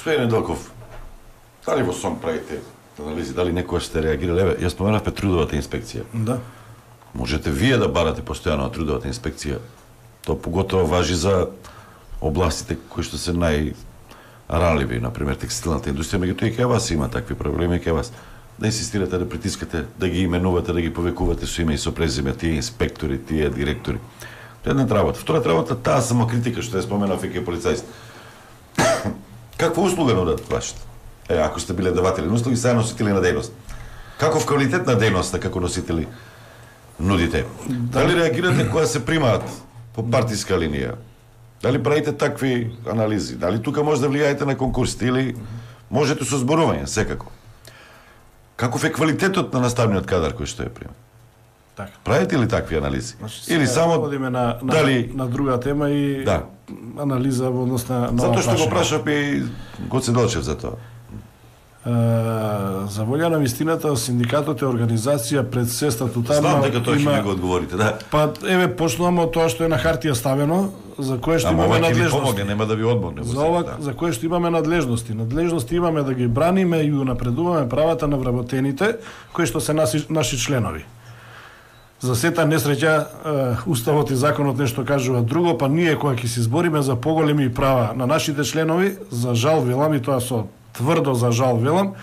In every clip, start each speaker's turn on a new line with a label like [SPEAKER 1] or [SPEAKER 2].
[SPEAKER 1] Господин Неделков, дали во СОНК правите анализи, дали некојаш сте реагирали? Еве, јас споменавме трудовата инспекција.
[SPEAKER 2] Да.
[SPEAKER 1] Можете вие да барате постојано на трудовата инспекција. Тоа поготово важи за областите кои што се најранливи, например текстилната индустрија, меѓутоа и кај вас има такви проблеми, кај вас да инсистирате да притискате, да ги именувате, да ги повекувате со име и со презиме тие инспектори, тие директори. Тоа е една работа. Втора работа, таа самокритика што ја споменав и кај полицајците. Каква услуга нудат вашите? Ако сте биле даватели на услуги, сега носители на дејност. Каков квалитет на дејноста како носители нудите? Дали реагирате кога се примаат по партиска линија? Дали правите такви анализи? Дали тука може да влијаете на конкурсите или можете со зборување, секако? Каков е квалитетот на наставниот кадар кој што е прима?
[SPEAKER 2] Така.
[SPEAKER 1] Правите ли такви анализи?
[SPEAKER 2] Значи,
[SPEAKER 1] или само
[SPEAKER 2] одиме на
[SPEAKER 1] дали
[SPEAKER 2] друга тема и
[SPEAKER 1] да.
[SPEAKER 2] анализа во однос на
[SPEAKER 1] затоа што го прашав и Гоце Делчев за тоа.
[SPEAKER 2] За волја на вистината, синдикатот е организација пред се статутарна.
[SPEAKER 1] Знам дека тоа ќе ми го одговорите, да.
[SPEAKER 2] Па еве почнуваме од тоа што е на хартија ставено, за кое што имаме надлежности.
[SPEAKER 1] Помогне, нема да ви одмогне.
[SPEAKER 2] За ова, да. За кое што имаме надлежности. Надлежности имаме да ги браниме и унапредуваме правата на вработените, кои што се наши членови. За сета несреќа, уставот и законот нешто кажува друго, па ние кога ќе се избориме за поголеми права на нашите членови, за жал велам и тоа со тврдо за жал велам,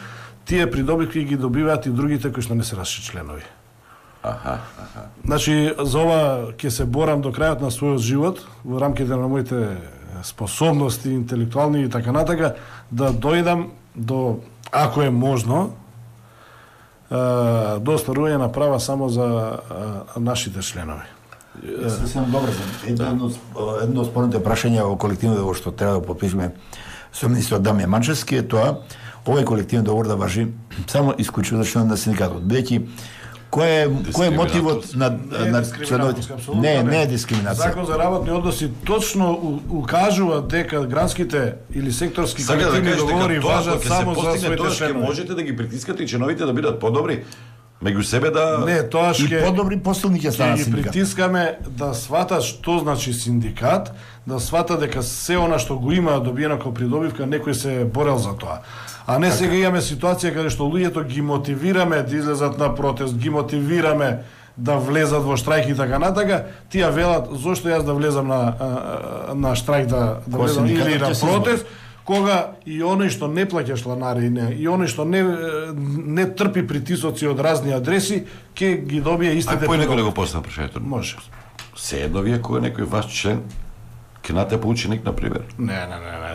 [SPEAKER 2] тие придобивки ги добиваат и другите кои што не се наши членови. Значи, за ова ќе се борам до крајот на својот живот, во рамките на моите способности, интелектуални и така натака, да дојдам до, ако е можно, до остварување на права само за нашите членови.
[SPEAKER 3] Сесем добро, едно спорните прашање во колективно договор што треба да подпишеме со министрот Дамјан Манчевски е тоа, овој колективен договор да важи само исклучиво за членот на синдикатот. Бидејќи кој е мотивот на членовите? Не е дискриминација.
[SPEAKER 2] Закон за работни односи точно укажува дека гранските или секторски колективни договори важат само за своите членови.
[SPEAKER 1] Можете да ги притискате и членовите да бидат подобри меѓу себе да
[SPEAKER 2] не, тоа
[SPEAKER 3] и подобри посилни ќе станат
[SPEAKER 2] синдикат. Ги притискаме да сватат што значи синдикат, да свата дека се она што го има добиено како придобивка, некој се борел за тоа. А не сега имаме ситуација каде што луѓето ги мотивираме да излезат на протест, ги мотивираме да влезат во штрајк и така натака, тие велат зошто јас да влезам на штрајк да влезам или на протест, кога и оној што не плаќа чланарина, и оној што не трпи притисоци од разни адреси, ќе ги добие истите.
[SPEAKER 1] А некој да го поставам прашањето?
[SPEAKER 2] Може.
[SPEAKER 1] Се едно вие кога некој ваш член ќе натепа ученик, например?
[SPEAKER 2] Не.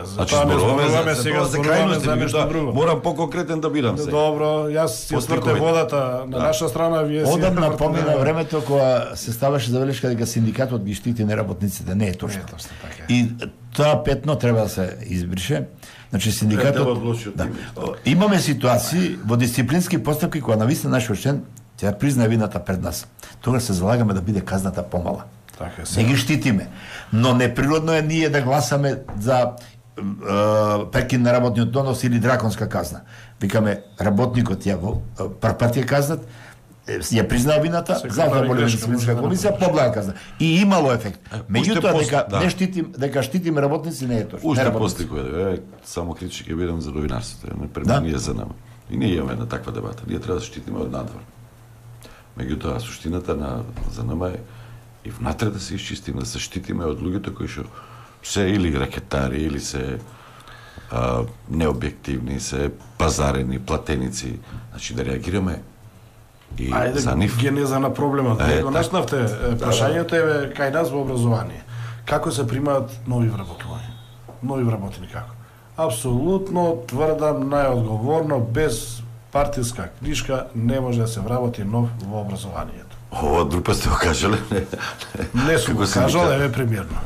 [SPEAKER 1] Значи зборуваме
[SPEAKER 2] сега за крајности, нешто друго.
[SPEAKER 1] Морам поконкретен да бидам сега.
[SPEAKER 2] Добро, јас си сврте водата на наша страна, вие си
[SPEAKER 3] одамна помина времето кога се ставаше забелешка дека синдикатот ги штити неработниците, не е точно. И тоа петно треба да се избрише. Значи синдикатот имаме ситуации во дисциплински постапки кога навистина нашиот член ќе признае вината пред нас. Тогаш се залагаме да биде казната помала. Не ги штитиме. Но неприродно е ние да гласаме за прекин на работниот однос или драконска казна. Викаме, работникот ја прв пат ја казнат, ја признаа вината, затоа дисциплинска комисија поблага казна. И имало ефект. Меѓутоа дека штитиме работници не е точно.
[SPEAKER 1] Уште постикува, само критички ќе бидам за новинарството, не преминија за нама. И ние имаме една таква дебата. Ние треба да штитиме од надвор. Меѓутоа суштината за нама е и внатре да се исчистиме, да се штитиме од луѓето кои што се или ракетари, или се необјективни, се пазарени, платеници. Значи да реагираме и за нив.
[SPEAKER 2] Генеза на проблемот. Го наснавте прашањето е кај нас во образование. Како се примаат нови вработувања? Нови вработени како? Апсолутно тврдам најодговорно, без партиска книжка не може да се вработи нов во образованието.
[SPEAKER 1] Ова друпа сте го кажале?
[SPEAKER 2] Не сум го кажал, еве примерно.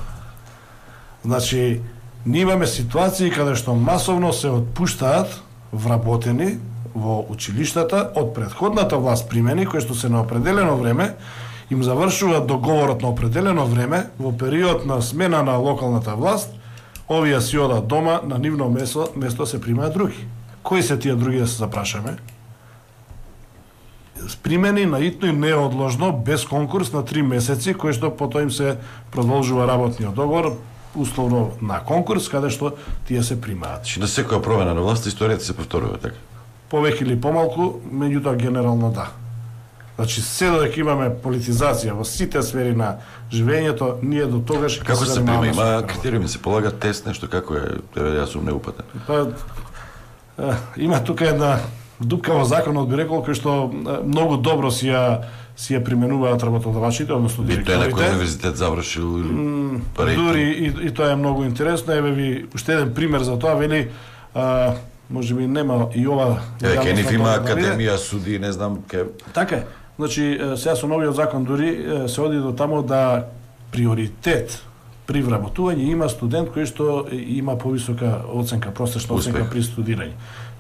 [SPEAKER 2] Значи, ние имаме ситуации каде што масовно се отпуштаат вработени во училиштата од претходната власт примени, кои што се на определено време, им завршуваат договорот на определено време, во период на смена на локалната власт, овие си одат дома, на нивно место се примаат други. Кои се тие други да се запрашаме? Примени наитно и неодложно, без конкурс на 3 месеци, кои што потоа им се продолжува работниот договор, условно на конкурс каде што тие се примаат.
[SPEAKER 1] Значи на секоја промена на власт историјата се повторува, така?
[SPEAKER 2] Повеќе или помалку, меѓутоа генерално да. Значи, се додека имаме политизација во сите сфери на живењето, ние до тогаш
[SPEAKER 1] како се прима? Има критериуми, се полага тест, нешто како е? Јас сум неупатен.
[SPEAKER 2] Па има тука една дупка во законот, би рекол, кој што многу добро си ја применуваат работодавачите, односно директорите.
[SPEAKER 1] И тој некој универзитет завршил или
[SPEAKER 2] дури и тоа е многу интересно. Еве ви уште еден пример за тоа, вели може би нема и ова.
[SPEAKER 1] Кениф има академија, суди, не знам ке.
[SPEAKER 2] Така е. Значи сега со новиот закон дури се оди до тамо да приоритет при вработување има студент кој што има повисока оценка, просечна оценка при студирање.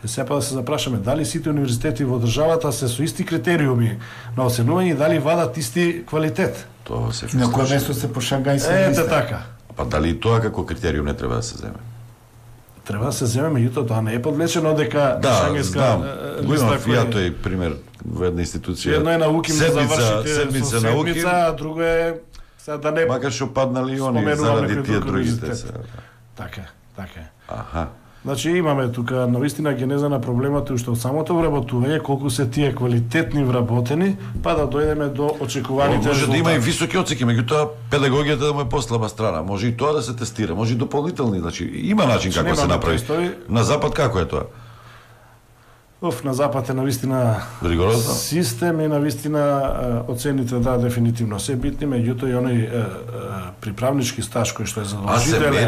[SPEAKER 2] Сега па да се запрашаме дали сите универзитети во државата се со исти критериуми на оценување и дали вадат исти квалитет.
[SPEAKER 1] Тоа се
[SPEAKER 3] на кој место се по Шангајска листа.
[SPEAKER 2] Така.
[SPEAKER 1] Па дали и тоа како критериум не треба да се земе?
[SPEAKER 2] Треба да се земе, меѓутоа тоа не е подвлечено дека Шангајска
[SPEAKER 1] листа која е пример во една институција.
[SPEAKER 2] Едно е науки за завршите
[SPEAKER 1] седмица науки,
[SPEAKER 2] а друго е сега да не
[SPEAKER 1] макар што паднали и они заради тие другите.
[SPEAKER 2] Така, така.
[SPEAKER 1] Аха.
[SPEAKER 2] Значи имаме тука навистина генеза на проблемот уште од самото вработување, колку се тие квалитетни вработени, па да дојдеме до очекуваните
[SPEAKER 1] може
[SPEAKER 2] резултати.
[SPEAKER 1] Да има и високи оценки, меѓутоа педагогијата да му е послаба страна. Може и тоа да се тестира, може и дополнителни, значи има начин како се направи. На запад како е тоа?
[SPEAKER 2] На запад е навистина
[SPEAKER 1] ригорозно
[SPEAKER 2] систем и навистина оцените да дефинитивно се битни, меѓутоа и оној приправнички стаж кој што е задолжителен.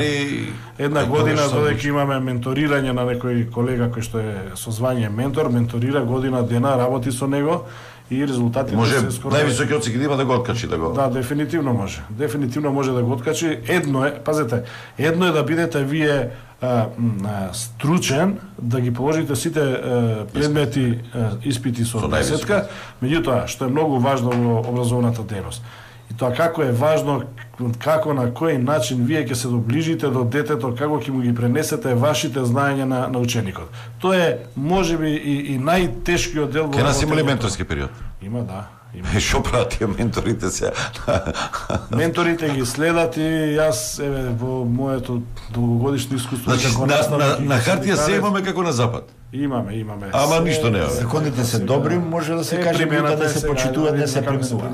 [SPEAKER 2] Една година додека имаме менторирање на некој колега кој што е со звање ментор, менторира година дена, работи со него и резултатите
[SPEAKER 1] се скоро највисоки оценки да има да го откачи да го.
[SPEAKER 2] Да, дефинитивно може. Дефинитивно може да го откачи. Едно е, пазете, едно е да бидете вие стручен, да ги положите сите предмети, испити со десетка, меѓутоа, што е многу важно во образовната дејност. И тоа како е важно, како на кој начин вие ќе се доближите до детето, како ќе му ги пренесете вашите знаења на ученикот. Тоа е можеби и најтешкиот дел во.
[SPEAKER 1] Ке нас има ли менторски период?
[SPEAKER 2] Има, да.
[SPEAKER 1] Што прават тие менторите се?
[SPEAKER 2] Менторите ги следат и јас во моето долгогодишно искуство
[SPEAKER 1] како наставник. На хартија се имаме како на запад.
[SPEAKER 2] Имаме.
[SPEAKER 1] Ама ништо не е.
[SPEAKER 3] Законите се добри, може да се каже да се почитуваат, да се применуваат.